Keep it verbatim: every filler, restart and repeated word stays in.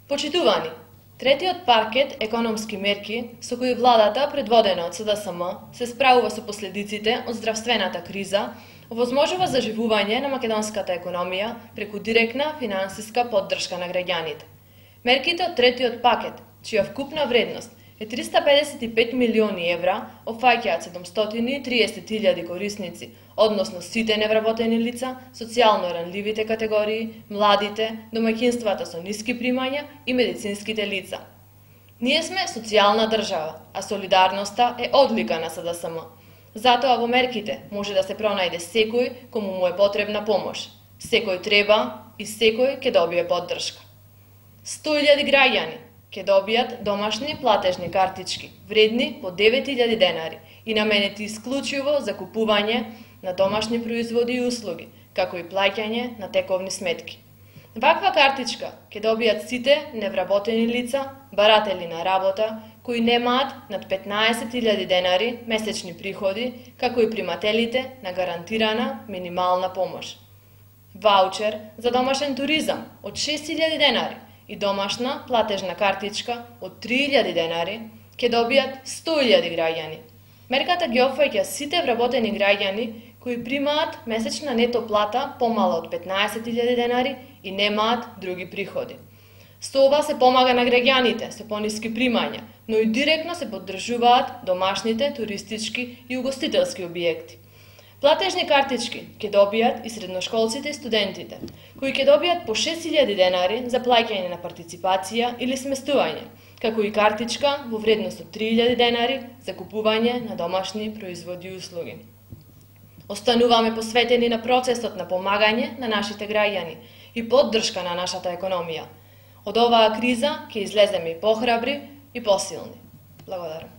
Почитувани, третиот пакет економски мерки со кои владата, предводена од С Д С М, се справува со последиците од здравствената криза, овозможува заживување на македонската економија преку директна финансиска поддршка на граѓаните. Мерките од третиот пакет, чија вкупна вредност е триста педесет и пет милиони евра, опфаќаат седумстотини и триесет илјади корисници, односно сите невработени лица, социјално ранливите категории, младите, домаќинствата со ниски примања и медицинските лица. Ние сме социјална држава, а солидарноста е одлика на С Д С М. Затоа во мерките може да се пронајде секој кому му е потребна помош. Секој треба и секој ќе добие поддршка. сто илјади граѓани ќе добијат домашни платежни картички, вредни по девет илјади денари и наменети исклучиво за купување на домашни производи и услуги, како и плаќање на тековни сметки. Ваква картичка ќе добијат сите невработени лица, баратели на работа, кои немаат над петнаесет илјади денари месечни приходи, како и примателите на гарантирана минимална помош. Ваучер за домашен туризам од шест илјади денари и домашна платежна картичка од три илјади денари ќе добијат сто илјади граѓани. Мерката ги опфаќа сите вработени граѓани кои примаат месечна нето плата помала од петнаесет илјади денари и немаат други приходи. Со ова се помага на граѓаните со пониски примања, но и директно се поддржуваат домашните туристички и угостителски објекти. Платежни картички ќе добијат и средношколците и студентите, кои ќе добијат по шест илјади денари за плаќање на партиципација или сместување, како и картичка во вредност од три илјади денари за купување на домашни производи и услуги. Остануваме посветени на процесот на помагање на нашите граѓани и поддршка на нашата економија. Од оваа криза ќе излеземе и похрабри и посилни. Благодарам.